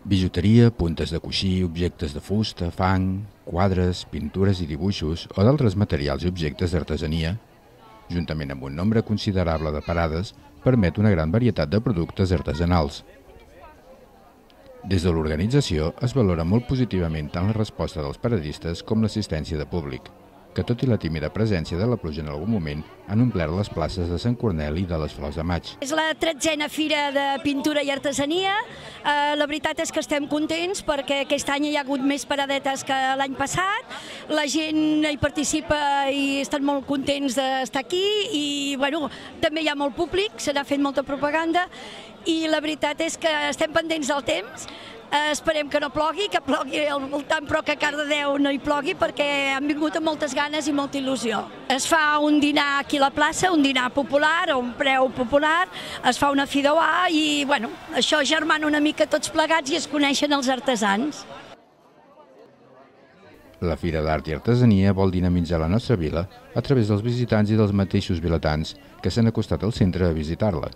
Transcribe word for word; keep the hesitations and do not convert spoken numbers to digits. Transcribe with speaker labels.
Speaker 1: Bijuteria, puntes de coixí, objectes de fusta, fang, quadres, pintures i dibuixos o d'altres materials i objectes d'artesania, juntament amb un nombre considerable de parades, permet una gran varietat de productes artesanals. Des de l'organització es valora molt positivament tant la resposta dels paradistes com l'assistència de públic, que tot i la tímida presència de la pluja en algun moment han omplert les places de Sant Corneli i de les Flors de Maig.
Speaker 2: És la tretzena fira de pintura i artesania. Eh, la veritat és que estem contents perquè aquest any hi ha hagut més paradetes que l'any passat. La gent hi participa i estan molt contents d'estar aquí i bueno, també hi ha molt públic, se n'ha fet molta propaganda i la veritat és que estem pendents del temps. Eh, esperem que no plogui, que plogui al voltant, però que a Cardedeu no hi plogui perquè han vingut amb moltes ganes i molta il·lusió. Es fa un dinar aquí a la plaça, un dinar popular, a un preu popular, es fa una fideuà i bueno, això germana una mica tots plegats i es coneixen els artesans.
Speaker 1: La Fira d'Art i Artesania vol dinamitzar la nostra vila a través dels visitants i dels mateixos vilatans que s'han acostat al centre a visitar-la.